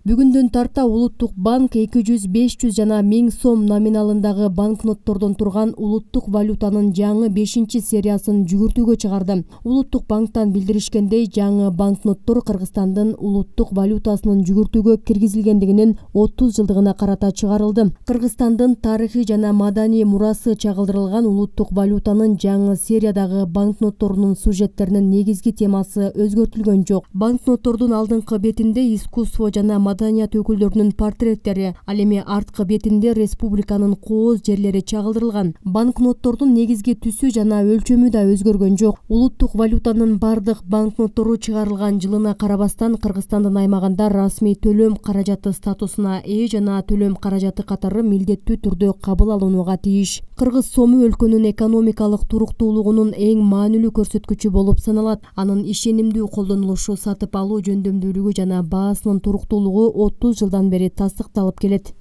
Бүгүндөн тарта Улуттук банк 200-500 жана 1000 сом номиналындагы банкноттордон турган улуттук валютанын жаңы 5-чи сериясын жүгүртүүгө чыгарды. Улуттук банктан билдиришкендей, жаңы банкноттор Кыргызстандын улуттук валютасынын жүгүртүүгө киргизилгендигинин 30 жылдыгына карата чыгарылды. Кыргызстандын тарыхый жана маданий мурасы чагылдырылган улуттук валютанын жаңы сериядагы банкнотторунун сюжеттеринин негизги темасы өзгөртүлгөн жок. Банкноттордун алдыңкы бетинде искусство жана маданият өкүлдөрүнүн портреттери, ал эми арткы бетинде республиканын кооз жерлери чагылдырылган. Банкноттордун негизги түсү жана өлчөмү да өзгөргөн жок. Улуттук валютанын бардык банкноттору чыгарылган жылына карабастан Кыргызстандын аймагында расмий төлөм каражаты статусуна ээ жана төлөм каражаты катары милдеттүү түрдө кабыл алынууга тийиш. Кыргыз сому өлкөнүн экономикалык туруктуулугунун эң маанилүү көрсөткүчү болуп саналат. Анын ишенимдүү колдонулушу сатып алуу жөндөмдүүлүгү жана баасынын туруктуулугу 30 жылдан бери тастыкталып келет.